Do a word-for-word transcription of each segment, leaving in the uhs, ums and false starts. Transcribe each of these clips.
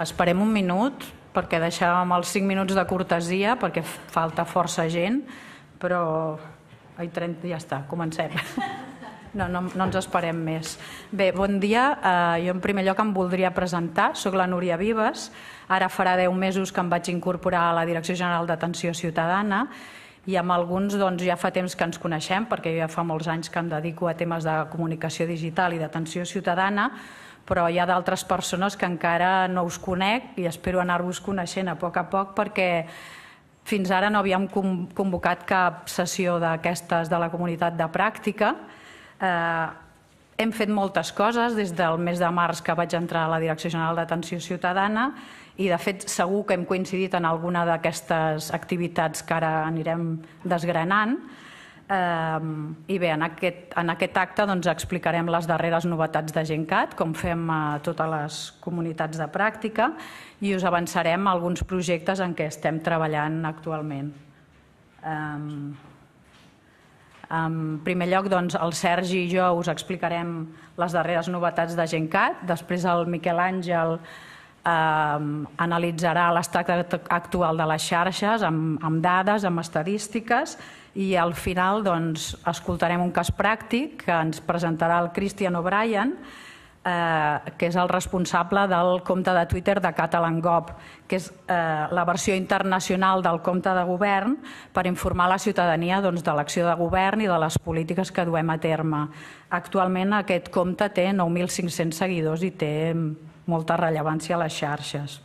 Esperem un minut, perquè deixàvem els cinc minuts de cortesia, perquè falta força gent, però ai, trenta, ja està, comencem. No, no, no ens esperem més. Bé, bon dia. Jo en primer lloc em voldria presentar. Soc la Núria Vives. Ara farà deu mesos que em vaig incorporar a la Direcció General d'Atenció Ciutadana i amb alguns ja fa temps que ens coneixem, perquè ja fa molts anys que em dedico a temes de comunicació digital i d'atenció ciutadana, però hi ha d'altres persones que encara no us conec i espero anar-vos coneixent a poc a poc, perquè fins ara no havíem convocat cap sessió d'aquestes de la comunitat de pràctica. Hem fet moltes coses des del mes de març que vaig entrar a la Direcció General d'Atenció Ciutadana i, de fet, segur que hem coincidit en alguna d'aquestes activitats que ara anirem desgranant. I bé, en aquest acte explicarem les darreres novetats de Gencat, com fem a totes les comunitats de pràctica, i us avançarem alguns projectes en què estem treballant actualment. En primer lloc, el Sergi i jo us explicarem les darreres novetats de Gencat, després el Miquel Àngel analitzarà l'estat actual de les xarxes amb dades, amb estadístiques, i al final escoltarem un cas pràctic que ens presentarà el Christian O'Brien, que és el responsable del compte de Twitter de CatalanGov, que és la versió internacional del compte de govern per informar la ciutadania de l'acció de govern i de les polítiques que duem a terme. Actualment aquest compte té nou mil cinc-cents seguidors i té molta rellevància a les xarxes.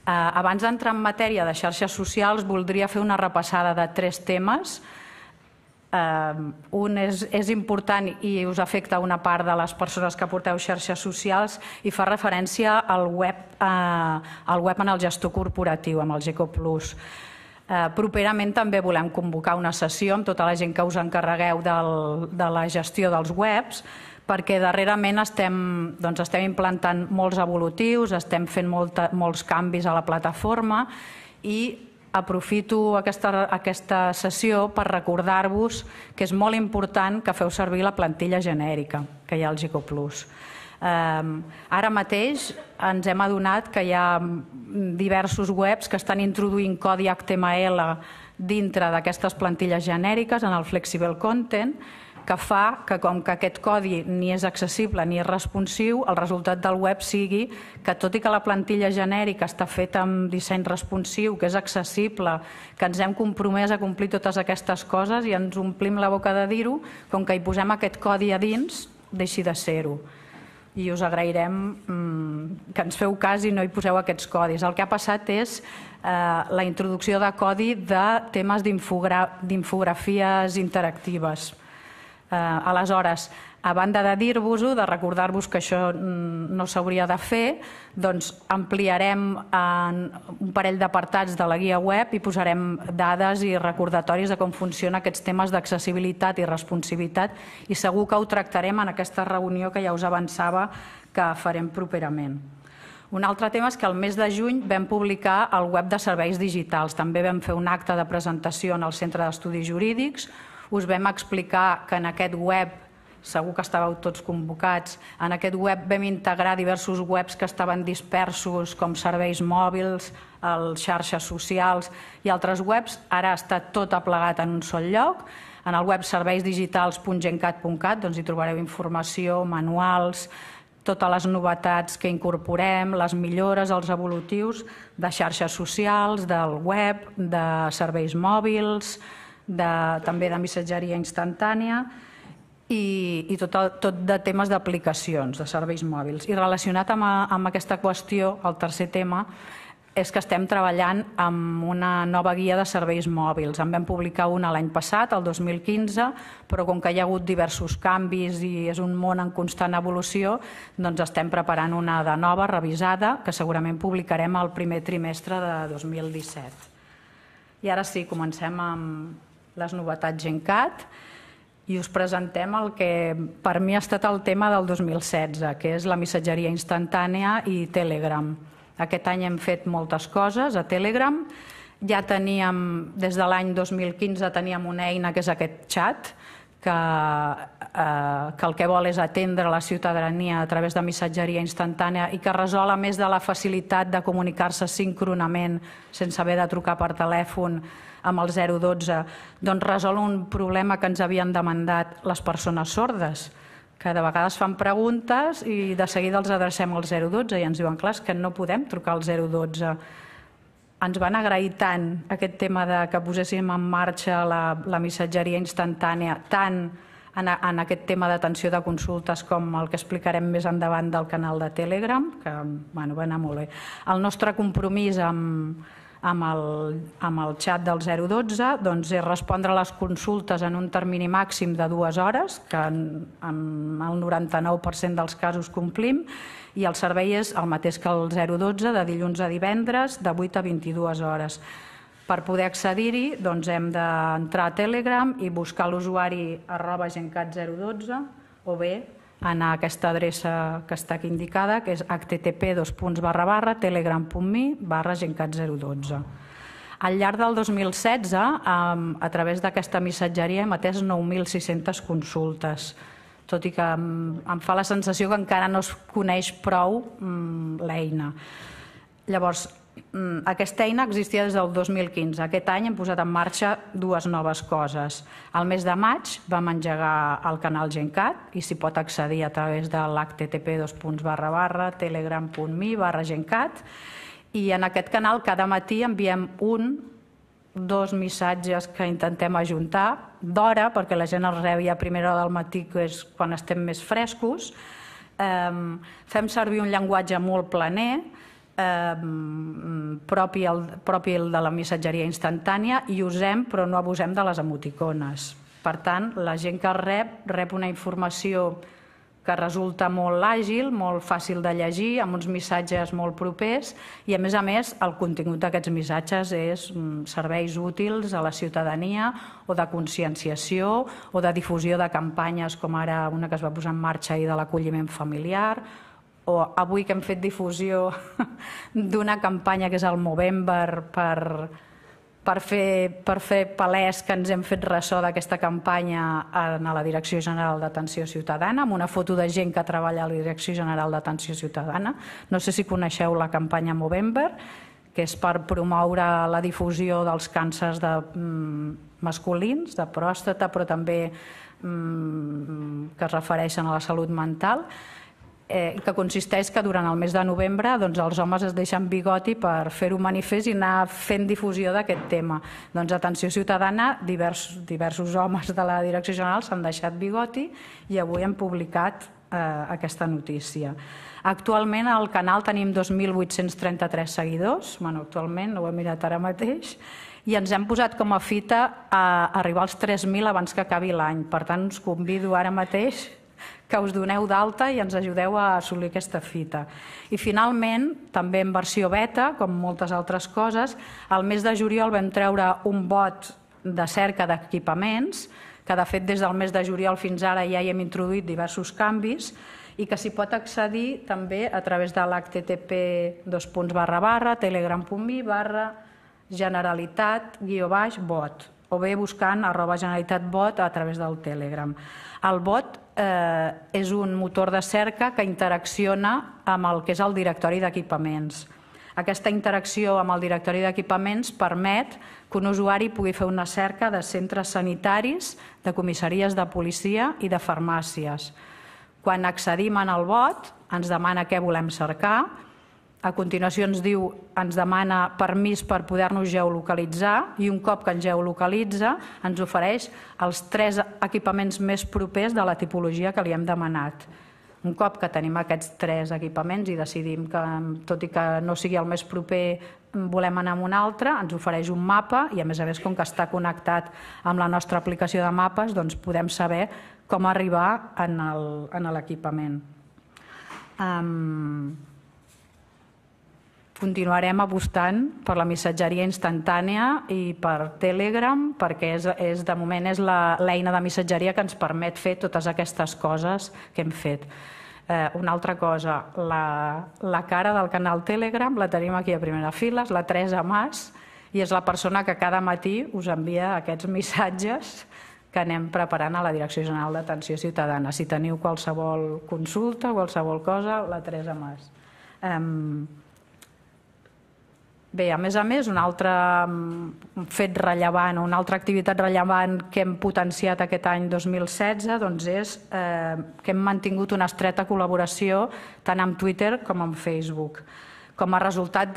Abans d'entrar en matèria de xarxes socials, voldria fer una repassada de tres temes. Un és important i us afecta una part de les persones que porteu xarxes socials i fa referència al web en el gestor corporatiu, amb el Geco Plus. Properament també volem convocar una sessió amb tota la gent que us encarregueu de la gestió dels webs, perquè darrerament estem implantant molts evolutius, estem fent molts canvis a la plataforma i aprofito aquesta sessió per recordar-vos que és molt important que feu servir la plantilla genèrica que hi ha al Geco Plus. Ara mateix ens hem adonat que hi ha diversos webs que estan introduint codi H T M L dintre d'aquestes plantilles genèriques en el Flexible Content, que fa que, com que aquest codi ni és accessible ni és responsiu, el resultat del web sigui que, tot i que la plantilla genèrica està feta amb disseny responsiu, que és accessible, que ens hem compromès a complir totes aquestes coses i ens omplim la boca de dir-ho, com que hi posem aquest codi a dins, deixi de ser-ho. I us agrairem que ens feu cas i no hi poseu aquests codis. El que ha passat és la introducció de codi de temes d'infografies interactives. Aleshores, a banda de dir-vos-ho, de recordar-vos que això no s'hauria de fer, doncs ampliarem un parell d'apartats de la guia web i posarem dades i recordatoris de com funcionen aquests temes d'accessibilitat i responsivitat i segur que ho tractarem en aquesta reunió que ja us avançava que farem properament. Un altre tema és que el mes de juny vam publicar el web de serveis digitals. També vam fer un acte de presentació en el Centre d'Estudis Jurídics. Us vam explicar que en aquest web, segur que estàveu tots convocats, en aquest web vam integrar diversos webs que estaven dispersos, com serveis mòbils, xarxes socials i altres webs. Ara està tot aplegat en un sol lloc. En el web serveis digitals punt gencat punt cat hi trobareu informació, manuals, totes les novetats que incorporem, les millores, els evolutius de xarxes socials, del web, de serveis mòbils, també de missatgeria instantània i tot de temes d'aplicacions, de serveis mòbils. I relacionat amb aquesta qüestió, el tercer tema, és que estem treballant amb una nova guia de serveis mòbils. En vam publicar una l'any passat, el dos mil quinze, però com que hi ha hagut diversos canvis i és un món en constant evolució, doncs estem preparant una de nova, revisada, que segurament publicarem al primer trimestre de dos mil disset. I ara sí, comencem amb les novetats Gencat i us presentem el que per mi ha estat el tema del dos mil setze, que és la missatgeria instantània i Telegram. Aquest any hem fet moltes coses a Telegram. Ja teníem, des de l'any dos mil quinze, teníem una eina que és aquest xat, que, eh, que el que vol és atendre la ciutadania a través de missatgeria instantània i que resol, a més de la facilitat de comunicar-se síncronament sense haver de trucar per telèfon amb el zero dotze, doncs resol un problema que ens havien demandat les persones sordes, que de vegades fan preguntes i de seguida els adrecem al zero dotze i ens diuen, clar, és que no podem trucar al zero dotze. Ens van agrair tant aquest tema de que poséssim en marxa la, la missatgeria instantània, tant en, en aquest tema d'atenció de consultes com el que explicarem més endavant del canal de Telegram, que bueno, va anar molt bé. El nostre compromís amb, amb, el, amb el xat del zero dotze doncs, és respondre a les consultes en un termini màxim de dues hores, que en, en el noranta-nou per cent dels casos complim, i el servei és el mateix que el zero dotze, de dilluns a divendres, de vuit a vint-i-dues hores. Per poder accedir-hi doncs, hem d'entrar a Telegram i buscar l'usuari arroba gencat zero dotze o bé anar a aquesta adreça que està aquí indicada, que és h t t p dos punts barra barra telegram punt me barra gencat zero dotze. Al llarg del dos mil setze, a través d'aquesta missatgeria hem atès nou mil sis-centes consultes, tot i que em fa la sensació que encara no es coneix prou l'eina. Llavors, aquesta eina existia des del dos mil quinze. Aquest any hem posat en marxa dues noves coses. Al mes de maig vam engegar el canal Gencat i s'hi pot accedir a través de l'h t t p dos punts barra barra telegram punt me barra gencat i en aquest canal cada matí enviem un dos missatges que intentem ajuntar d'hora, perquè la gent els rebi a primera hora del matí, que és quan estem més frescos. Fem servir un llenguatge molt planer, propi de la missatgeria instantània, i usem, però no abusem de les emoticones. Per tant, la gent que rep, rep una informació que resulta molt àgil, molt fàcil de llegir, amb uns missatges molt propers i, a més a més, el contingut d'aquests missatges és serveis útils a la ciutadania o de conscienciació o de difusió de campanyes, com ara una que es va posar en marxa ahir de l'acolliment familiar, o avui que hem fet difusió d'una campanya que és el Movember per... per fer, per fer palès que ens hem fet ressò d'aquesta campanya a la Direcció General d'Atenció Ciutadana, amb una foto de gent que treballa a la Direcció General d'Atenció Ciutadana. No sé si coneixeu la campanya Movember, que és per promoure la difusió dels càncers de, mm, masculins, de pròstata, però també mm, que es refereixen a la salut mental, Eh, que consisteix que durant el mes de novembre doncs, els homes es deixen bigoti per fer-ho manifest i anar fent difusió d'aquest tema. Doncs Atenció Ciutadana, diversos, diversos homes de la Direcció General s'han deixat bigoti i avui hem publicat eh, aquesta notícia. Actualment al canal tenim dos mil vuit-cents trenta-tres seguidors, bueno, actualment, no ho he mirat ara mateix, i ens hem posat com a fita a arribar als tres mil abans que acabi l'any. Per tant, us convido ara mateix que us doneu d'alta i ens ajudeu a assolir aquesta fita. I finalment, també en versió beta, com moltes altres coses, al mes de juliol vam treure un bot de cerca d'equipaments, que de fet des del mes de juliol fins ara ja hi hem introduït diversos canvis i que s'hi pot accedir també a través de l'h t t p dos punts barra barra telegram punt me barra generalitat guió baix bot o bé buscant arroba generalitat bot a través del Telegram. El bot eh, és un motor de cerca que interacciona amb el que és el directori d'equipaments. Aquesta interacció amb el directori d'equipaments permet que un usuari pugui fer una cerca de centres sanitaris, de comissaries de policia i de farmàcies. Quan accedim en el bot, ens demana què volem cercar. A continuació ens diu, ens demana permís per poder-nos geolocalitzar i un cop que ens geolocalitza ens ofereix els tres equipaments més propers de la tipologia que li hem demanat. Un cop que tenim aquests tres equipaments i decidim que, tot i que no sigui el més proper, volem anar a un altre, ens ofereix un mapa i, a més a més, com que està connectat amb la nostra aplicació de mapes, doncs podem saber com arribar en l'equipament. Um, Continuarem apostant per la missatgeria instantània i per Telegram, perquè és, és, de moment és l'eina de missatgeria que ens permet fer totes aquestes coses que hem fet. Eh, una altra cosa, la, la cara del canal Telegram la tenim aquí a primera fila, és la Teresa Mas, i és la persona que cada matí us envia aquests missatges que anem preparant a la Direcció General d'Atenció Ciutadana. Si teniu qualsevol consulta, qualsevol cosa, la Teresa Mas. Bé, a més a més, un altre fet rellevant, una altra activitat rellevant que hem potenciat aquest any dos mil setze és que hem mantingut una estreta col·laboració tant amb Twitter com amb Facebook. Com a resultat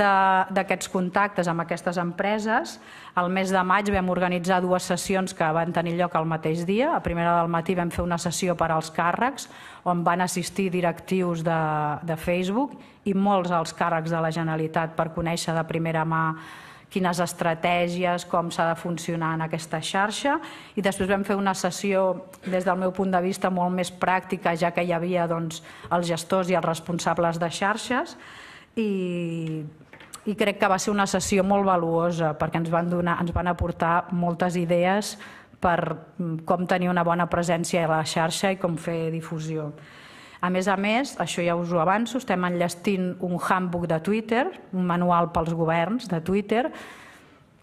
d'aquests contactes amb aquestes empreses, el mes de maig vam organitzar dues sessions que van tenir lloc al mateix dia. A primera del matí vam fer una sessió per als càrrecs, on van assistir directius de Facebook i molts alts càrrecs de la Generalitat per conèixer de primera mà quines estratègies, com s'ha de funcionar en aquesta xarxa. I després vam fer una sessió, des del meu punt de vista, molt més pràctica, ja que hi havia els gestors i els responsables de xarxes, i crec que va ser una sessió molt valuosa perquè ens van donar, ens van aportar moltes idees per com tenir una bona presència a la xarxa i com fer difusió. A més a més, això ja us ho avanço, estem enllestint un handbook de Twitter, un manual pels governs de Twitter,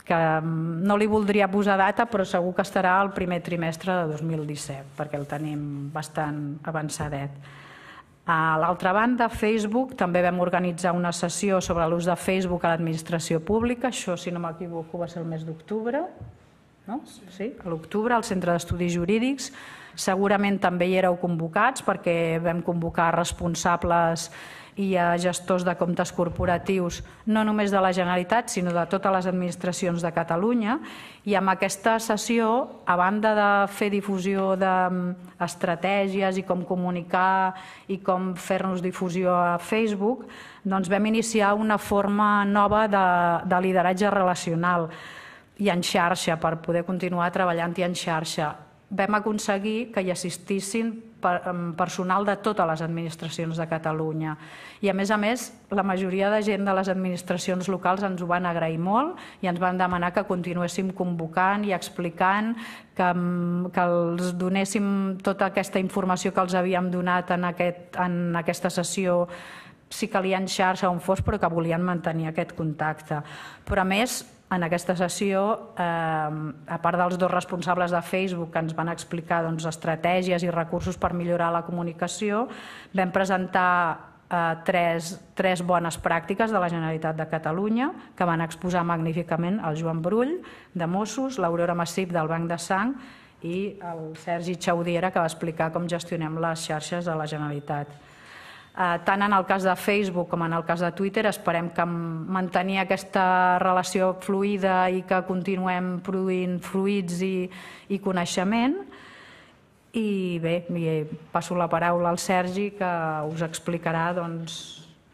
que no li voldria posar data, però segur que estarà al primer trimestre de dos mil disset, perquè el tenim bastant avançadet. A l'altra banda, Facebook, també vam organitzar una sessió sobre l'ús de Facebook a l'administració pública. Això, si no m'equivoco, va ser el mes d'octubre. Sí, a l'octubre, al Centre d'Estudis Jurídics. Segurament també hi éreu convocats perquè vam convocar responsables i a gestors de comptes corporatius, no només de la Generalitat, sinó de totes les administracions de Catalunya. I amb aquesta sessió, a banda de fer difusió d'estratègies i com comunicar i com fer-nos difusió a Facebook, doncs vam iniciar una forma nova de lideratge relacional i en xarxa, per poder continuar treballant-hi en xarxa. Vam aconseguir que hi assistissin personal de totes les administracions de Catalunya. I a més a més, la majoria de gent de les administracions locals ens ho van agrair molt i ens van demanar que continuéssim convocant i explicant, que els donéssim tota aquesta informació que els havíem donat en aquesta sessió, si calia en xarxa on fos, però que volien mantenir aquest contacte. Però a més, en aquesta sessió, a part dels dos responsables de Facebook que ens van explicar estratègies i recursos per millorar la comunicació, vam presentar tres bones pràctiques de la Generalitat de Catalunya que van exposar magníficament el Joan Brull, de Mossos, l'Aurora Massip, del Banc de Sang, i el Sergi Chaudiera, que va explicar com gestionem les xarxes de la Generalitat. Tant en el cas de Facebook com en el cas de Twitter, esperem que mantenir aquesta relació fluida i que continuem produint fruits i coneixement. I bé, passo la paraula al Sergi, que us explicarà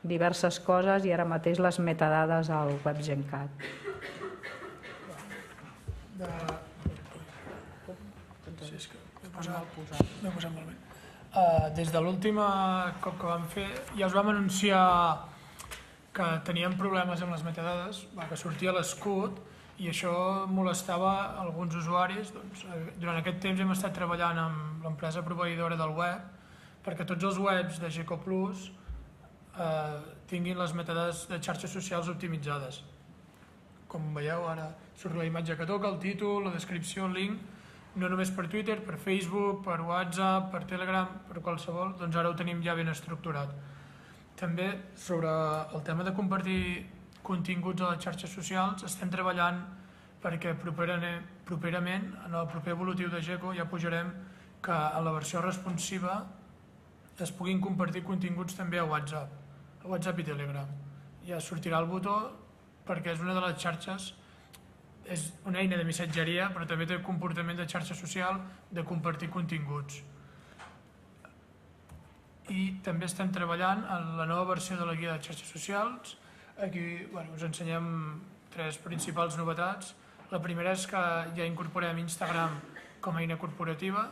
diverses coses i ara mateix les metadades al web Gencat. M'he posat molt bé. Des de l'últim cop que vam fer, ja us vam anunciar que teníem problemes amb les metadades, que sortia l'escut i això molestava alguns usuaris. Durant aquest temps hem estat treballant amb l'empresa proveïdora del web perquè tots els webs de Geco Plus tinguin les metadades de xarxes socials optimitzades. Com veieu, ara surt la imatge que toca, el títol, la descripció, el link, no només per Twitter, per Facebook, per WhatsApp, per Telegram, per qualsevol, doncs ara ho tenim ja ben estructurat. També sobre el tema de compartir continguts a les xarxes socials estem treballant perquè properament, en el proper evolutiu de Geco, ja pujarem que a la versió responsiva es puguin compartir continguts també a WhatsApp, a WhatsApp i Telegram. Ja sortirà el botó perquè és una de les xarxes, és una eina de missatgeria, però també té comportament de xarxa social de compartir continguts. I també estem treballant en la nova versió de la guia de xarxes socials. Aquí us ensenyem tres principals novetats. La primera és que ja incorporem Instagram com a eina corporativa.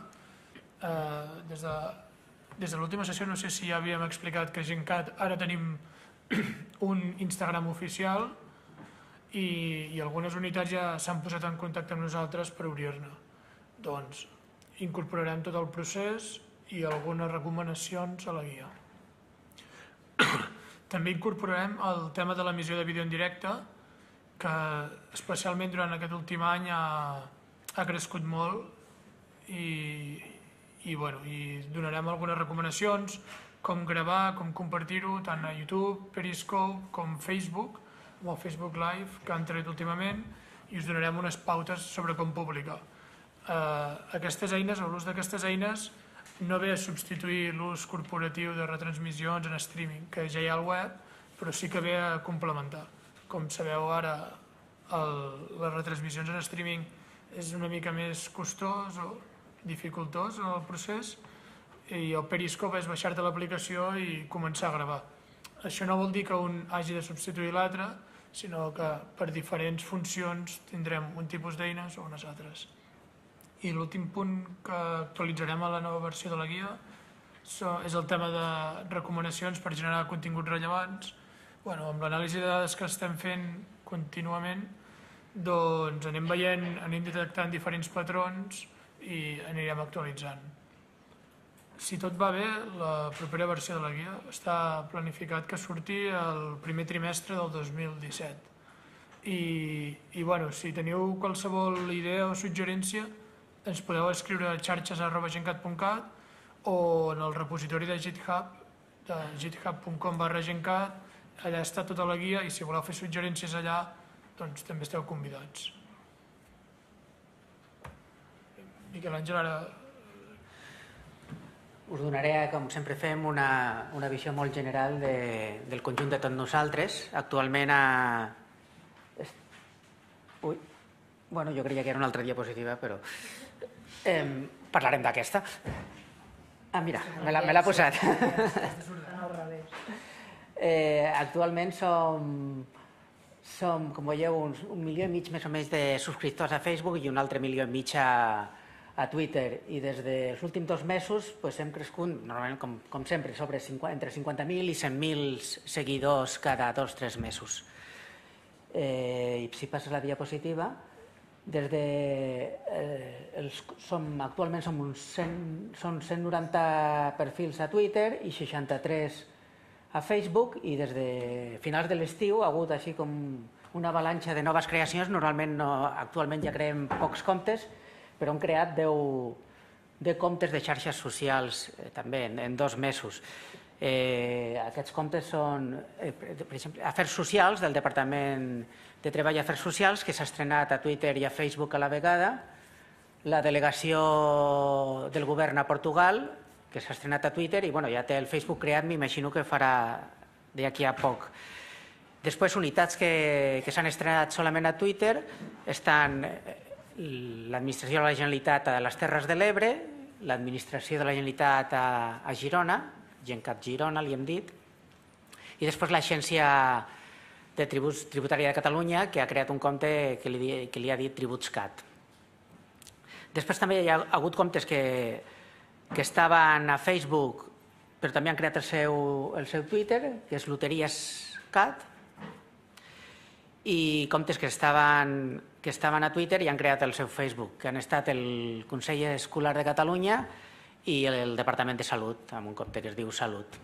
Des de l'última sessió no sé si ja havíem explicat que a Gencat ara tenim un Instagram oficial i algunes unitats ja s'han posat en contacte amb nosaltres per obrir-ne. Doncs incorporarem tot el procés i algunes recomanacions a la guia. També incorporarem el tema de l'emissió de vídeo en directe, que especialment durant aquest últim any ha crescut molt i, i, bueno, i donarem algunes recomanacions, com gravar, com compartir-ho, tant a YouTube, Periscope, com Facebook, amb el Facebook Live que han tret últimament, i us donarem unes pautes sobre com publicar. Eh, aquestes eines, l'ús d'aquestes eines, no ve a substituir l'ús corporatiu de retransmissions en streaming, que ja hi ha al web, però sí que ve a complementar. Com sabeu ara, el, les retransmissions en streaming és una mica més costós o dificultós en el procés, i el Periscope és baixar-te l'aplicació i començar a gravar. Això no vol dir que un hagi de substituir l'altre, sinó que per diferents funcions tindrem un tipus d'eines o unes altres. I l'últim punt que actualitzarem a la nova versió de la guia és el tema de recomanacions per generar continguts rellevants. Bueno, amb l'anàlisi de dades que estem fent contínuament, doncs anem veient, anem detectant diferents patrons i anirem actualitzant. Si tot va bé, la propera versió de la guia està planificat que surti el primer trimestre del dos mil disset. I, i bueno, si teniu qualsevol idea o suggerència, ens podeu escriure a xarxes arroba gencat punt cat o en el repositori de GitHub, de github punt com barra gencat, allà està tota la guia i si voleu fer suggerències allà, doncs també esteu convidats. Miquel Àngel, ara... Us donaré, com sempre fem, una, una visió molt general de, del conjunt de tots nosaltres. Actualment a... Ui, bueno, jo creia que era una altra diapositiva, però... Eh, parlarem d'aquesta. Ah, mira, me l'ha posat. eh, actualment som, som, com veieu, un, un milió i mig més o menys de subscriptors a Facebook i un altre milió i mig a, a Twitter. I des dels últims dos mesos pues, hem crescut, normalment, com, com sempre, sobre cinquanta, entre cinquanta mil i cent mil seguidors cada dos o tres mesos. Eh, I si passes la diapositiva, des de, eh, els, som, actualment som uns cent, són cent noranta perfils a Twitter i seixanta-tres a Facebook, i des de finals de l'estiu ha hagut així com una avalanxa de noves creacions. Normalment no, actualment ja creem pocs comptes, però hem creat deu, deu comptes de xarxes socials eh, també en, en dos mesos. Eh, aquests comptes són, eh, per exemple, Afers Socials del Departament de Treball i Afers Socials, que s'ha estrenat a Twitter i a Facebook a la vegada, la delegació del govern a Portugal, que s'ha estrenat a Twitter i bueno, ja té el Facebook creat, m'imagino que farà d'aquí a poc. Després, unitats que, que s'han estrenat solament a Twitter estan l'administració de la Generalitat a les Terres de l'Ebre, l'administració de la Generalitat a, a Girona, Gencat Girona, li hem dit, i després l'Agència de Tributs Tributària de Catalunya, que ha creat un compte que li, que li ha dit TributsCat. Després també hi ha hagut comptes que, que estaven a Facebook, però també han creat el seu, el seu Twitter, que és LoteriesCat, i comptes que estaven, que estaven a Twitter i han creat el seu Facebook, que han estat el Consell Escolar de Catalunya i el Departament de Salut, amb un compte que es diu Salut.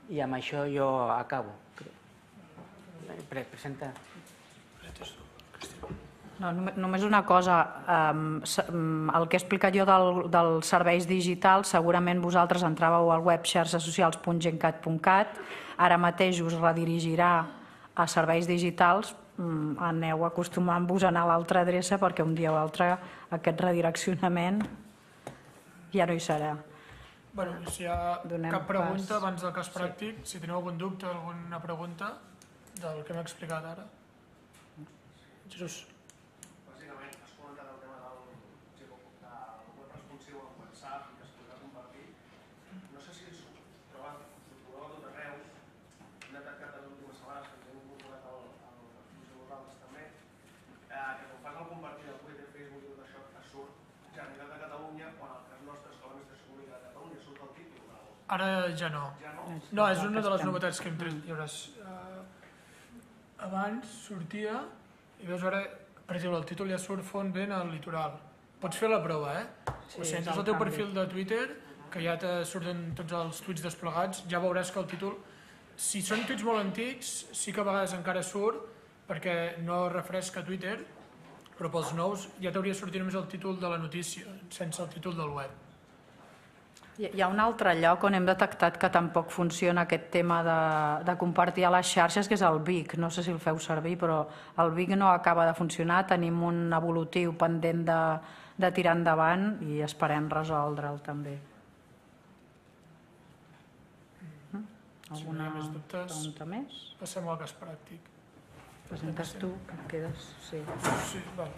I amb això jo acabo. Presenta. No, només una cosa, el que he explicat jo del, dels serveis digitals, segurament vosaltres entràveu al web xarxesocials punt gencat punt cat, ara mateix us redirigirà a serveis digitals, aneu acostumant-vos a anar a l'altra adreça perquè un dia o altre aquest redireccionament ja no hi serà. Bueno, si hi ha cap pregunta abans del cas pràctic, si teniu algun dubte, alguna pregunta del que m'he explicat ara. Jesús. Bàsicament, has comentat el tema del web responsiu en WhatsApp i que es podrà compartir. No sé si us trobeu a tot arreu. Hem detectat les últimes setmanes que ens hem incorporat al responsiu nosaltres també, que quan fas el compartir del Twitter, Facebook i tot això, et surt Generalitat de Catalunya, quan el cas nostre és que l'administració pública de Catalunya surt el títol. Ara ja no. Ja no? No, és una de les novetats que hem tret. Hi hauràs... Abans sortia, i veus ara, per exemple, el títol ja surt Font Vent al litoral. Pots fer la prova, eh? Sí, o si entres al teu perfil de Twitter, que ja te surten tots els tuits desplegats, ja veuràs que el títol... Si són tuits molt antics, sí que a vegades encara surt, perquè no refresca Twitter, però pels nous ja t'hauria sortit només el títol de la notícia, sense el títol del web. Hi ha un altre lloc on hem detectat que tampoc funciona aquest tema de, de compartir a les xarxes, que és el Vic. No sé si el feu servir, però el Vic no acaba de funcionar. Tenim un evolutiu pendent de, de tirar endavant i esperem resoldre'l també. Alguna pregunta més? Passem al cas pràctic. Presentes tu, que et quedes... Sí, sí, val.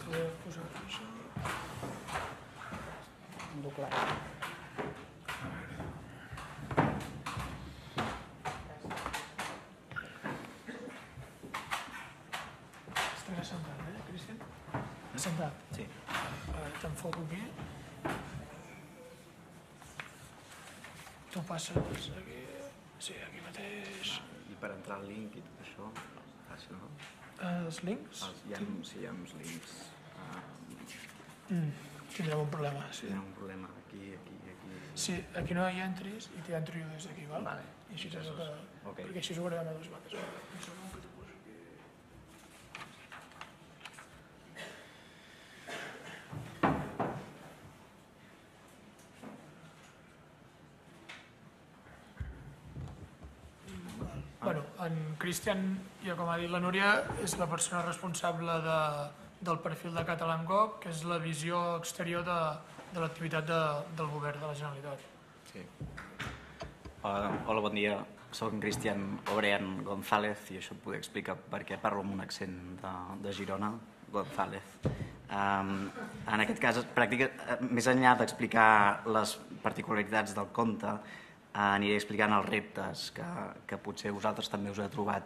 Podeu posar això. Doblar. Estaré sentat, eh, Cristian? Sentat? Sí. T'enfoco aquí. Tu passes aquí... Sí, aquí mateix. I per entrar al link i tot això, fàcil, no? Els links? Hi ha, sí, hi ha uns links. Tindrem un problema, sí. Tindrem un problema aquí, aquí, aquí... Sí, aquí no hi entris i t'hi entro jo des d'aquí, val? Vale. I així és el que... Perquè així ho guardem a dues bandes. Un segon que t'ho poso aquí. Bueno, en Cristian, ja com ha dit la Núria, és la persona responsable de, del perfil de CatalanGov, que és la visió exterior de, de l'activitat de, del govern de la Generalitat. Sí. Hola, hola, bon dia. Soc en Cristian Obrean González i això et puc explicar perquè parlo amb un accent de, de Girona, González. Um, en aquest cas, pràctica, més enllà d'explicar les particularitats del conte, aniré explicant els reptes que, que potser vosaltres també us heu trobat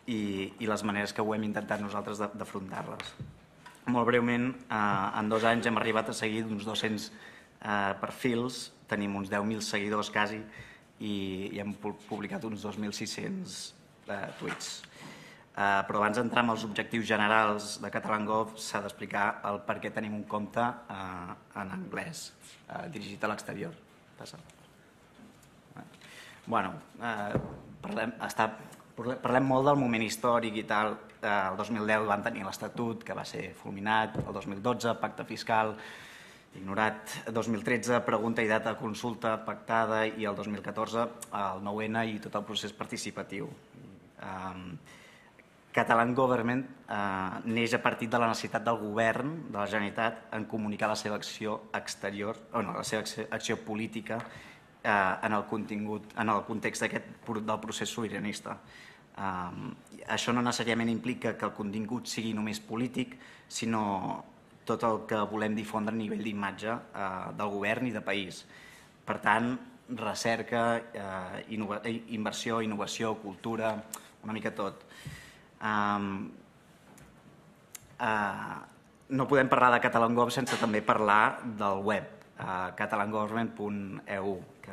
i, i les maneres que ho hem intentat nosaltres d'afrontar-les. Molt breument, eh, en dos anys hem arribat a seguir uns dos-cents eh, perfils, tenim uns deu mil seguidors quasi i, i hem publicat uns dos mil sis-cents eh, tuits. Eh, però abans d'entrar en els objectius generals de CatalanGov s'ha d'explicar el per què tenim un compte eh, en anglès, eh, dirigit a l'exterior. Passa. Bueno, eh, parlem, està, parlem molt del moment històric i tal. Eh, el dos mil deu van tenir l'Estatut, que va ser fulminat, el dos mil dotze, pacte fiscal, ignorat, el dos mil tretze, pregunta i data de consulta pactada i el dos mil catorze, el nou ene i tot el procés participatiu. Eh, Catalan Government eh, neix a partir de la necessitat del govern de la Generalitat en comunicar la seva acció exterior, o no, la seva acció política en el contingut, en el context d'aquest del procés sobiranista. Això no necessàriament implica que el contingut sigui només polític, sinó tot el que volem difondre a nivell d'imatge del govern i de país. Per tant, recerca, inversió, innovació, cultura, una mica tot. No podem parlar de CatalanGov sense també parlar del web, catalan government punt e u, que,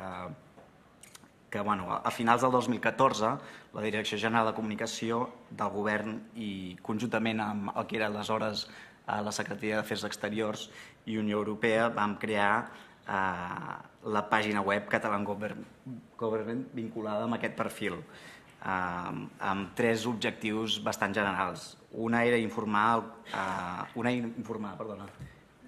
que bueno, a finals del dos mil catorze la Direcció General de Comunicació del Govern i conjuntament amb el que era aleshores la Secretaria d'Afers Exteriors i Unió Europea vam crear eh, la pàgina web Catalan Government vinculada amb aquest perfil, eh, amb tres objectius bastant generals. Una era informar, eh, una informar, perdona,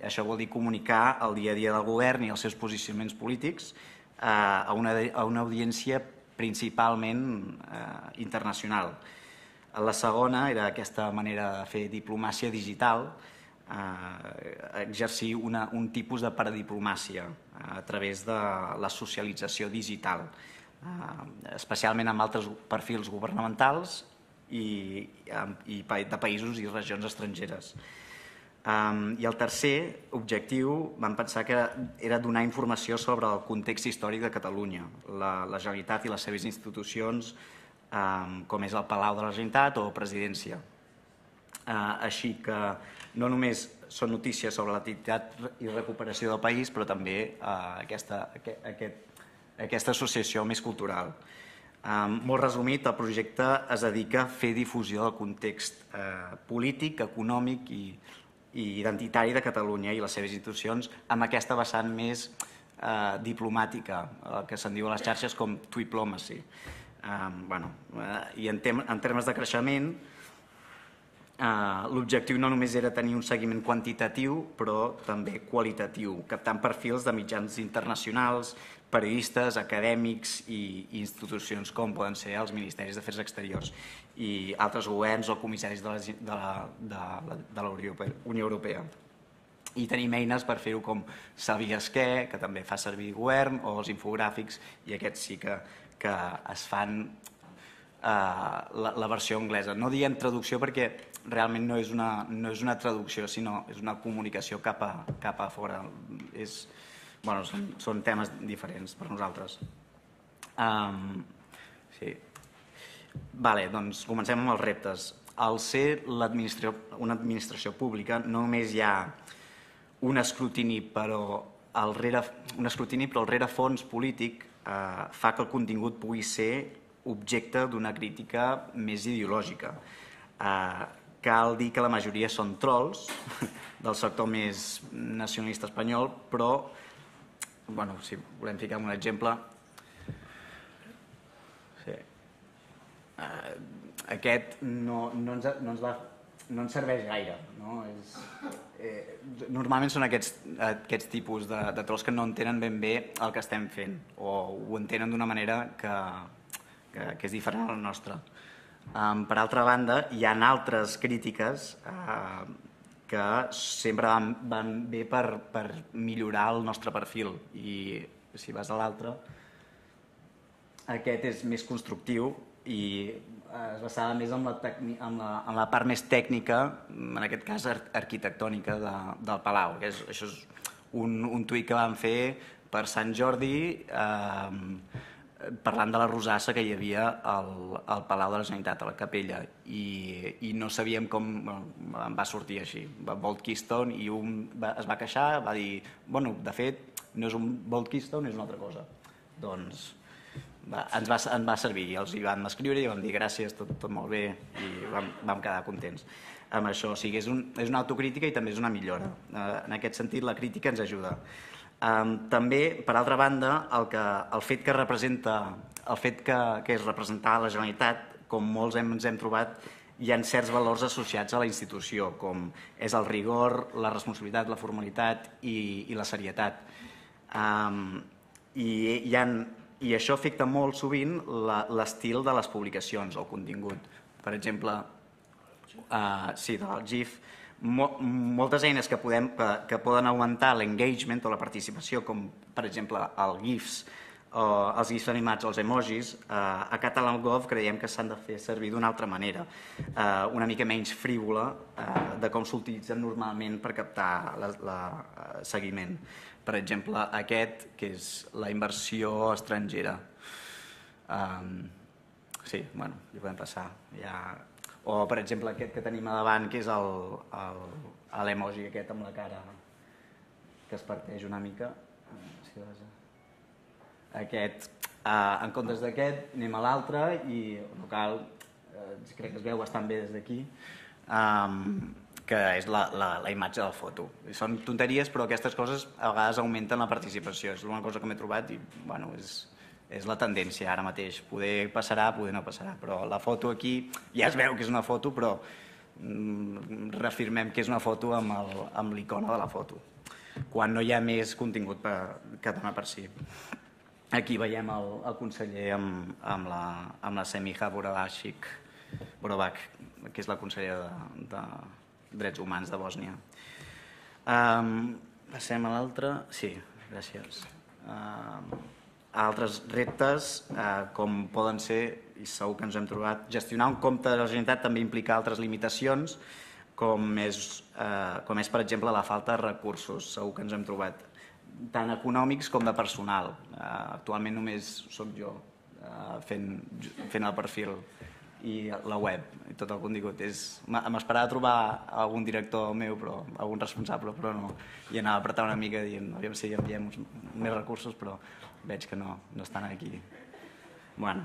això vol dir comunicar el dia a dia del govern i els seus posicionaments polítics a una, a una audiència principalment eh, internacional. La segona era aquesta manera de fer diplomàcia digital, eh, exercir una, un tipus de paradiplomàcia eh, a través de la socialització digital, eh, especialment amb altres perfils governamentals i, i de països i regions estrangeres. Um, I el tercer objectiu vam pensar que era donar informació sobre el context històric de Catalunya, la, la Generalitat i les seves institucions, um, com és el Palau de la Generalitat o Presidència. Uh, així que no només són notícies sobre l'activitat i recuperació del país, però també uh, aquesta, aquest, aquest, aquesta associació més cultural. Um, molt resumit, el projecte es dedica a fer difusió del context uh, polític, econòmic i i identitari de Catalunya i les seves institucions amb aquesta vessant més eh, diplomàtica, el que se'n diu a les xarxes com Twiplomacy. Eh, bueno, eh, I en, tem en termes de creixement, l'objectiu no només era tenir un seguiment quantitatiu, però també qualitatiu, captant perfils de mitjans internacionals, periodistes, acadèmics i institucions com poden ser els Ministeris d'Afers Exteriors i altres governs o comissaris de la, de la, de la, de la Unió Europea. I tenim eines per fer-ho com Sabies què, que també fa servir govern, o els infogràfics, i aquests sí que, que es fan Uh, la, la versió anglesa. No diem traducció perquè realment no és una, no és una traducció, sinó és una comunicació cap a, cap a fora. És, bueno, són, són temes diferents per nosaltres. Um, sí. Vale, doncs comencem amb els reptes. Al ser l'administració, una administració pública, no només hi ha un escrutini, però el rere, un escrutini, però el rerefons polític uh, fa que el contingut pugui ser objecte d'una crítica més ideològica. Eh, cal dir que la majoria són trolls del sector més nacionalista espanyol, però, bueno, si volem ficar un exemple, sí. eh, aquest no, no, ens, no, ens va, no ens serveix gaire. No? És, eh, normalment són aquests, aquests tipus de, de trolls que no entenen ben bé el que estem fent, o ho entenen d'una manera que Que, que és diferent a la nostra. Um, per altra banda, hi ha altres crítiques uh, que sempre van, van bé per, per millorar el nostre perfil, i si vas a l'altre, aquest és més constructiu i es basava més en la, en la, en la part més tècnica, en aquest cas ar arquitectònica de, del Palau. Que és, això és un, un tuit que vam fer per Sant Jordi, eh, parlant de la rosassa que hi havia al, al Palau de la Generalitat, a la capella, i, i no sabíem com, bueno, em va sortir així, Bolt Keystone, i un va, es va queixar, va dir, bueno, de fet, no és un Bolt Keystone, és una altra cosa. Doncs va, ens, va, ens va servir, i els hi vam escriure i vam dir gràcies, tot, tot molt bé, i vam, vam quedar contents amb això. O sigui, és, un, és una autocrítica i també és una millora. Eh, en aquest sentit, la crítica ens ajuda. Um, també, per altra banda, el, que, el fet que representa, el fet que, que és representar la Generalitat, com molts hem, ens hem trobat, hi ha certs valors associats a la institució, com és el rigor, la responsabilitat, la formalitat i, i la serietat. Um, i, hi ha, I això afecta molt sovint l'estil de les publicacions, el contingut. Per exemple, uh, sí, del GIF, moltes eines que, podem, que, que poden augmentar l'engagement o la participació, com per exemple el GIFs, o els GIFs animats o els emojis, eh, a Catalangov creiem que s'han de fer servir d'una altra manera, eh, una mica menys frívola eh, de com s'utilitzen normalment per captar la, la, eh, seguiment. Per exemple, aquest, que és la inversió estrangera. Um, sí, bueno, hi podem passar. Ja... O, per exemple, aquest que tenim a davant, que és l'emoji aquest amb la cara que es parteix una mica. Aquest, eh, en comptes d'aquest, anem a l'altre i no cal, eh, crec que es veu bastant bé des d'aquí, um, que és la, la, la imatge de la foto. Són tonteries, però aquestes coses a vegades augmenten la participació. És una cosa que m'he trobat i, bueno, és... és la tendència ara mateix. Poder passarà, poder no passarà, però la foto aquí ja es veu que és una foto, però mm, reafirmem que és una foto amb l'icona de la foto, quan no hi ha més contingut per, que dona per si. Aquí veiem el, el conseller amb, amb, la, amb la Semija Borovac, Borovac, que és la consellera de, de Drets Humans de Bòsnia. Um, passem a l'altre. Sí, gràcies. Um, Altres reptes, eh, com poden ser, i segur que ens hem trobat, gestionar un compte de la Generalitat també implica altres limitacions, com és, eh, com és, per exemple, la falta de recursos. Segur que ens hem trobat, tant econòmics com de personal. Eh, actualment només sóc jo eh, fent, fent el perfil i la web, i tot el contingut. M'esperava trobar algun director meu, però, algun responsable, però no. I anava a apretar una mica dient, aviam si enviem més recursos, però veig que no, no estan aquí. Bueno,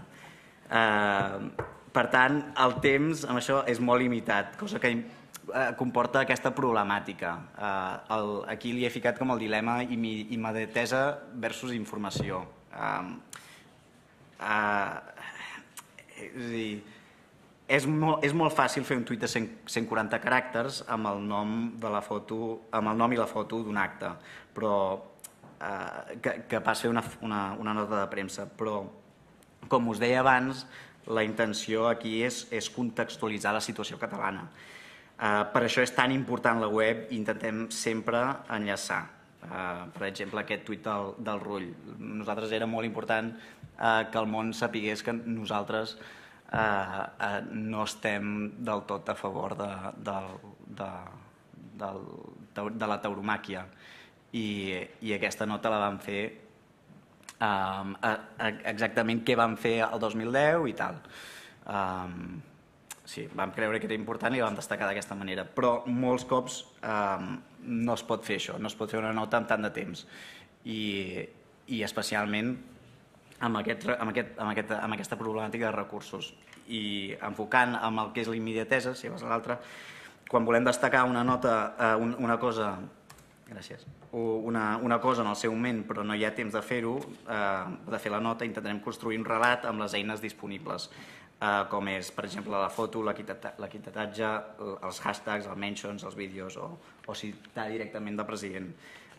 eh, per tant, el temps amb això és molt limitat, cosa que eh, comporta aquesta problemàtica. Eh, el, aquí li he ficat com el dilema immediatesa versus informació. Eh, eh, és a dir, és molt, és molt fàcil fer un tuit de cent quaranta caràcters amb el nom de la foto, amb el nom i la foto d'un acte, però eh, que, que pas fer una, una, una nota de premsa. Però, com us deia abans, la intenció aquí és, és contextualitzar la situació catalana. Eh, per això és tan important la web i intentem sempre enllaçar. Uh, per exemple, aquest tuit del, del Rull. Nosaltres era molt important uh, que el món sapigués que nosaltres uh, uh, no estem del tot a favor de, de, de, de, de la tauromàquia. I, i aquesta nota la vam fer um, a, a, exactament què vam fer el dos mil deu i tal. Um, sí, vam creure que era important i la vam destacar d'aquesta manera, però molts cops um, no es pot fer això, no es pot fer una nota amb tant de temps i, i especialment amb, aquest, amb, aquest, amb, aquest, amb aquesta problemàtica de recursos i enfocant amb el que és la immediatesa, si vas a l'altra, quan volem destacar una nota, eh, una cosa, gràcies, una, una cosa en el seu moment però no hi ha temps de fer-ho, eh, de fer la nota, intentarem construir un relat amb les eines disponibles. Uh, com és, per exemple, la foto, l'equitatge, els hashtags, els mentions, els vídeos, o, o citar directament del president.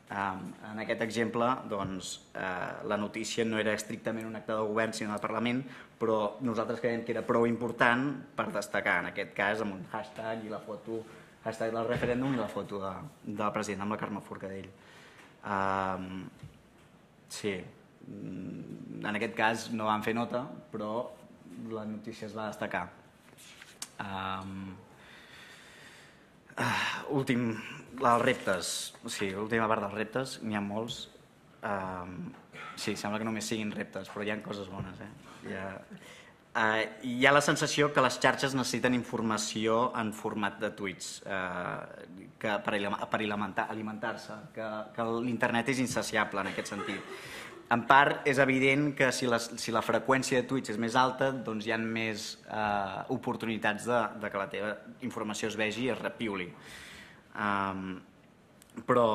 Um, en aquest exemple, doncs, uh, la notícia no era estrictament un acte de govern, sinó del Parlament, però nosaltres creiem que era prou important per destacar, en aquest cas, amb un hashtag i la foto, hashtag del referèndum i la foto de, del president amb la Carme Forcadell. Um, sí, en aquest cas no vam fer nota, però la notícia es va destacar. Um, uh, últim, els reptes. Sí, l'última part dels reptes, n'hi ha molts. Um, sí, sembla que només siguin reptes, però hi ha coses bones. Eh? Hi, ha, uh, hi ha la sensació que les xarxes necessiten informació en format de tuits uh, que per, per alimentar-se, que, que l'internet és insaciable en aquest sentit. En part, és evident que si la, si la freqüència de tuits és més alta, doncs hi ha més eh, oportunitats de, de que la teva informació es vegi i es repiuli. Um, però,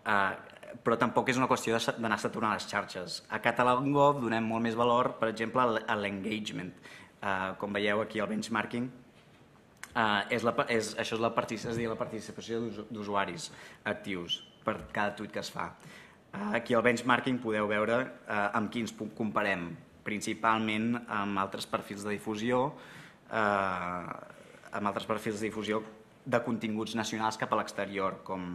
eh, però tampoc és una qüestió d'anar saturant les xarxes. A Catalangov donem molt més valor, per exemple, a l'engagement. Uh, com veieu aquí al benchmarking, uh, és la, és, això és la, és dir, la participació d'usuaris actius per cada tuit que es fa. Aquí al benchmarking podeu veure eh, amb quins comparem, principalment amb altres perfils de difusió, eh, amb altres perfils de difusió de continguts nacionals cap a l'exterior, com,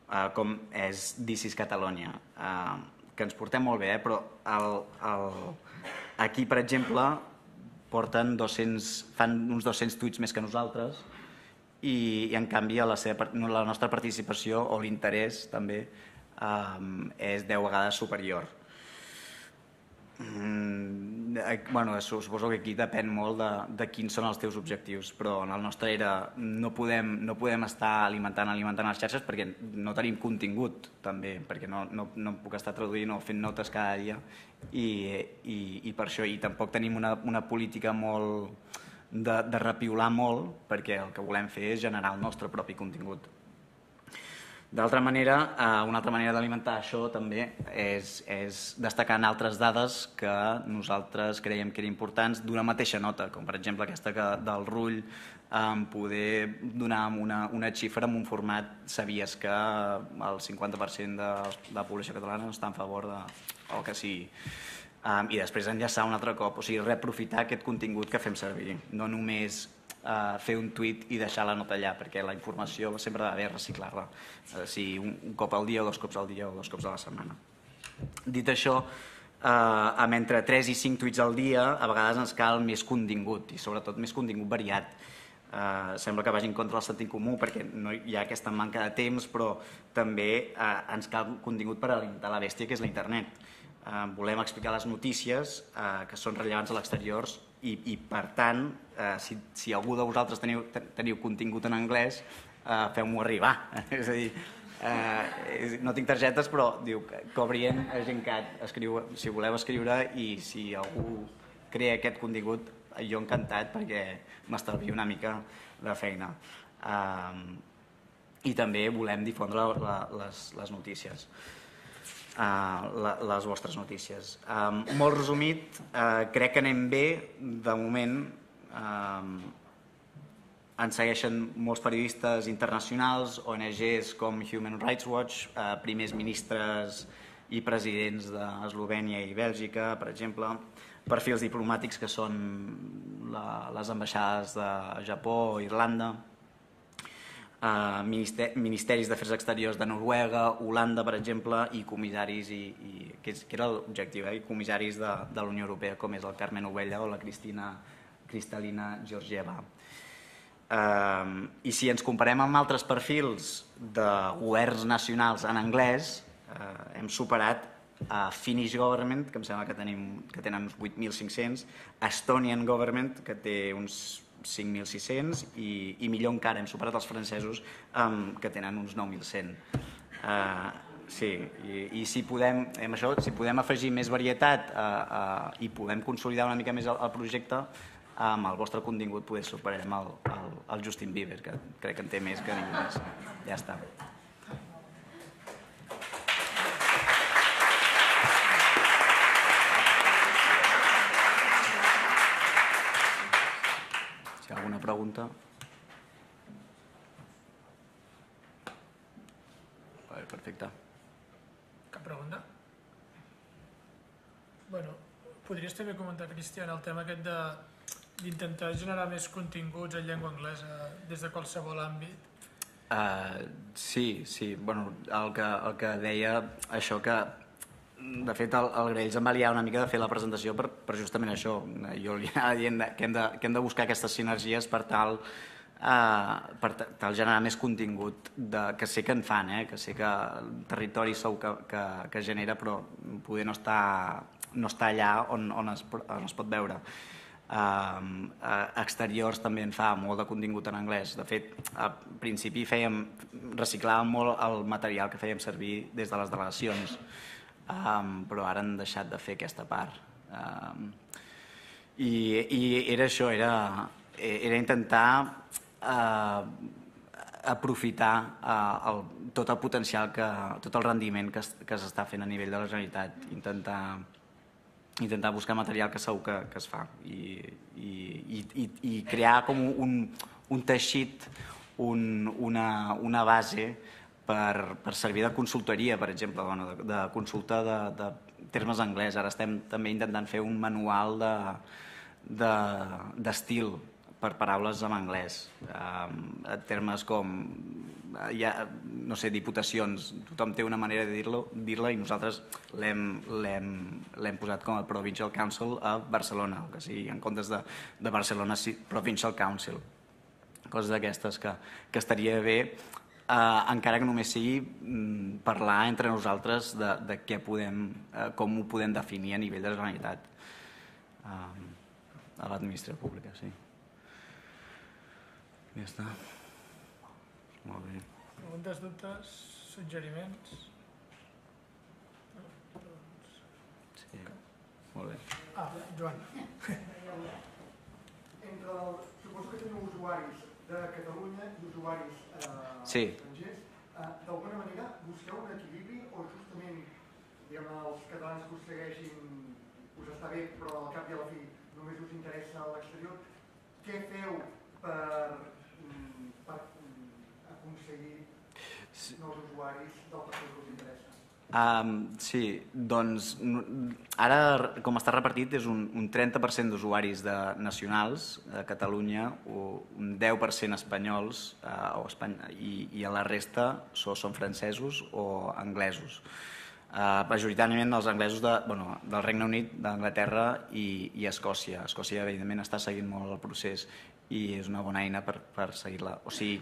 eh, com és This is Catalonia, eh, que ens portem molt bé, eh, però el, el, aquí, per exemple, porten dos-cents, fan uns dos-cents tuits més que nosaltres i, i en canvi la, seva, la nostra participació o l'interès també Um, és deu vegades superior. Mm, bueno, suposo que aquí depèn molt de, de quins són els teus objectius, però en el nostre era no podem, no podem estar alimentant, alimentant les xarxes perquè no tenim contingut també, perquè no, no, no puc estar traduint o fent notes cada dia i, i, i per això i tampoc tenim una, una política molt de, de repiolar molt perquè el que volem fer és generar el nostre propi contingut. D'altra manera, una altra manera d'alimentar això també és, és destacant altres dades que nosaltres creiem que eren importants d'una mateixa nota, com per exemple aquesta que, del Rull, en poder donar una, una xifra en un format, sabies que el cinquanta per cent de la població catalana no està en favor de, o que sigui. Um, I després enllaçar un altre cop, o sigui, reaprofitar aquest contingut que fem servir, no només Uh, fer un tuit i deixar la nota allà, perquè la informació sempre ha d'haver reciclar-la, uh, si un, un cop al dia o dos cops al dia o dos cops a la setmana. Dit això, uh, amb entre tres i cinc tuits al dia, a vegades ens cal més contingut, i sobretot més contingut variat. Uh, sembla que vagi en contra del sentit comú, perquè no hi ha aquesta manca de temps, però també uh, ens cal contingut per alimentar la bèstia que és la internet. Uh, volem explicar les notícies uh, que són rellevants a l'exterior i, i per tant, uh, si, si algú de vosaltres teniu, teniu contingut en anglès, uh, feu-m'ho arribar. És a dir, uh, no tinc targetes, però diu Cobrient a Gencat, escriu, si voleu escriure i si algú crea aquest contingut, jo encantat perquè m'estalvio una mica de feina. Uh, I també volem difondre la, la, les, les notícies. Uh, la, les vostres notícies. Um, molt resumit, uh, crec que anem bé de moment. Um, ens segueixen molts periodistes internacionals, O N Ges com Human Rights Watch, eh, primers ministres i presidents d'Eslovènia i Bèlgica, per exemple, perfils diplomàtics que són la, les ambaixades de Japó, Irlanda, eh, minister, ministeris d'Afers Exteriors de Noruega, Holanda, per exemple, i comissaris, i, i, que, és, que era l'objectiu, eh, i comissaris de, de la Unió Europea, com és el Carmen Ovella o la Cristina, Cristalina Georgieva. Uh, I si ens comparem amb altres perfils de governs nacionals en anglès, uh, hem superat a Finnish Government, que em sembla que, tenim, que tenen uns vuit mil cinc-cents, Estonian Government, que té uns cinc mil sis-cents, i, i millor encara, hem superat els francesos, um, que tenen uns nou mil cent. Uh, sí, i, i si podem, amb això, si podem afegir més varietat uh, uh, i podem consolidar una mica més el, el projecte, amb el vostre contingut poder superarem el, el, el Justin Bieber, que crec que en té més que ningú més. Ja està. Si hi ha alguna pregunta? Vale, perfecte. Cap pregunta? Bueno, podries també comentar, Cristian, el tema aquest de d'intentar generar més continguts en llengua anglesa des de qualsevol àmbit? Uh, sí, sí. Bueno, el que, el que deia, això que, de fet, el, el Graells em va liar una mica de fer la presentació per, per justament això. Jo li anava dient que hem de, que hem de buscar aquestes sinergies per tal, uh, per tal generar més contingut, de, que sé que en fan, eh? Que sé que el territori sou que, que, que genera, però poder no està, no està allà on, on, es, on es pot veure. Uh, exteriors també en fa molt de contingut en anglès. De fet, al principi fèiem, reciclàvem molt el material que fèiem servir des de les delegacions, um, però ara han deixat de fer aquesta part. Um, i, I era això, era, era intentar uh, aprofitar uh, el, tot el potencial, que, tot el rendiment que, que s'està fent a nivell de la Generalitat, intentar intentar buscar material que segur que, que es fa i, i, i, i crear com un, un teixit, un, una, una base per, per servir de consultoria, per exemple, bueno, de, de consulta de, de termes anglès. Ara estem també intentant fer un manual de, de, d'estil per paraules en anglès, eh, termes com, ja, no sé, diputacions, tothom té una manera de dir-lo, dir-la i nosaltres l'hem posat com a Provincial Council a Barcelona, que sigui, en comptes de, de Barcelona, sí, Provincial Council. Coses d'aquestes que, que estaria bé, eh, encara que només sigui mm, parlar entre nosaltres de, de què podem, eh, com ho podem definir a nivell de la Generalitat, eh, a l'administració pública, sí. Ja està. Molt bé. Preguntes, dubtes, suggeriments? Sí, molt bé. Ah, Joan. Entre el, suposo que teniu usuaris de Catalunya i usuaris eh, sí. estrangers. Eh, D'alguna manera busqueu un equilibri o justament, diguem, els catalans que us segueixin us està bé, però al cap i a la fi només us interessa l'exterior? Què feu per, per aconseguir nous usuaris del perfil que us interessa? Um, sí, doncs ara com està repartit és un, un trenta per cent d'usuaris de nacionals a Catalunya, un deu per cent espanyols uh, o espany i, i a la resta so, són francesos o anglesos. Uh, majoritàriament els anglesos de, bueno, del Regne Unit, d'Anglaterra i, i Escòcia. Escòcia, evidentment, està seguint molt el procés i és una bona eina per, per seguir-la. O sigui,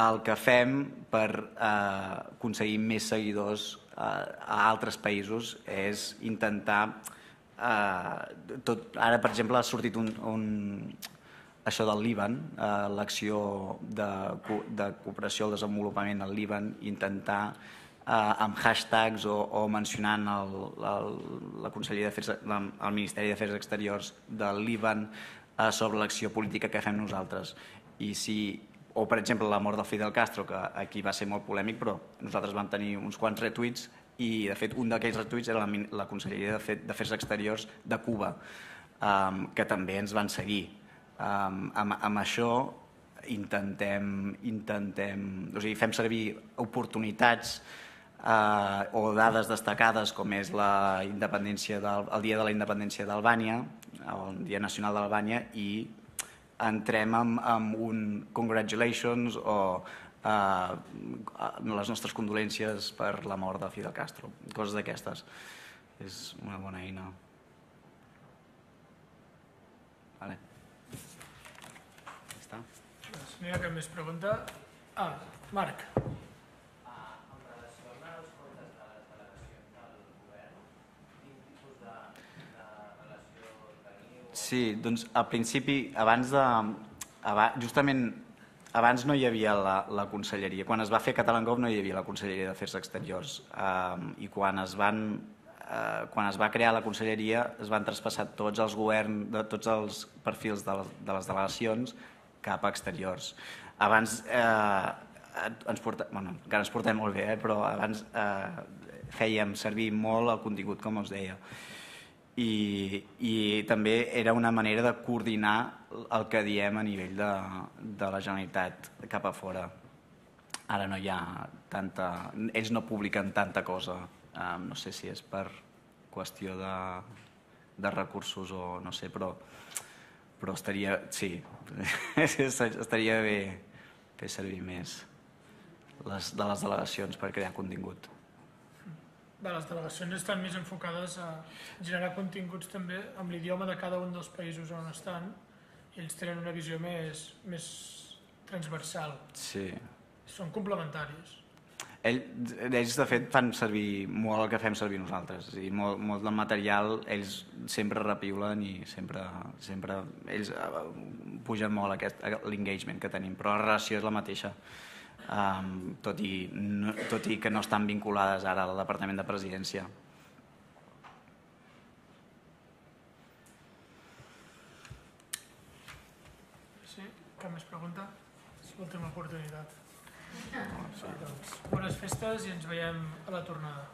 el que fem per eh, aconseguir més seguidors eh, a altres països és intentar... Eh, tot, ara, per exemple, ha sortit un, un, això del Líban, eh, l'acció de, de cooperació al desenvolupament al Líban, intentar eh, amb hashtags o, o mencionant el, el, la Conselleria d'Afers, el Ministeri d'Afers Exteriors del Líban eh, sobre l'acció política que fem nosaltres. I si, o, per exemple, la mort del Fidel Castro, que aquí va ser molt polèmic, però nosaltres vam tenir uns quants retuits i, de fet, un d'aquells retuits era la, la Conselleria d'Afers Exteriors de Cuba, um, que també ens van seguir. Um, amb, amb això intentem, intentem, o sigui, fem servir oportunitats eh, o dades destacades com és la independència del, el dia de la independència d'Albània, el Dia Nacional d'Albània, i entrem amb, amb un congratulations o eh, les nostres condolències per la mort de Fidel Castro, coses d'aquestes. És una bona eina. Vale. Ja està. No hi ha cap més pregunta. Ah, Marc. Sí, doncs al principi, abans de... Abans, justament abans no hi havia la, la conselleria. Quan es va fer CatalangOV no hi havia la conselleria d'Afers Exteriors. Um, I quan es, van, uh, quan es va crear la conselleria es van traspassar tots els governs, de, tots els perfils de les, de les delegacions cap a exteriors. Abans eh, ens portem, bueno, encara ens portem molt bé, eh, però abans eh, fèiem servir molt el contingut, com us deia. I, i també era una manera de coordinar el que diem a nivell de, de la Generalitat cap a fora. Ara no hi ha tanta... Ells no publiquen tanta cosa. Um, no sé si és per qüestió de, de recursos o no sé, però, però estaria... Sí, estaria bé fer servir més les, de les delegacions per crear contingut. Les delegacions estan més enfocades a generar continguts també amb l'idioma de cada un dels països on estan i ells tenen una visió més, més transversal. Sí. Són complementaris. Ell, ells, de fet, fan servir molt el que fem servir nosaltres. I molt, molt del material ells sempre repiulen i sempre, sempre ells pugen molt aquest, l'engagement que tenim, però la relació és la mateixa. Um, tot, i, no, tot i que no estan vinculades ara al Departament de Presidència. Sí? Cap més pregunta? És l'última oportunitat. Sí, doncs, bones festes i ens veiem a la tornada.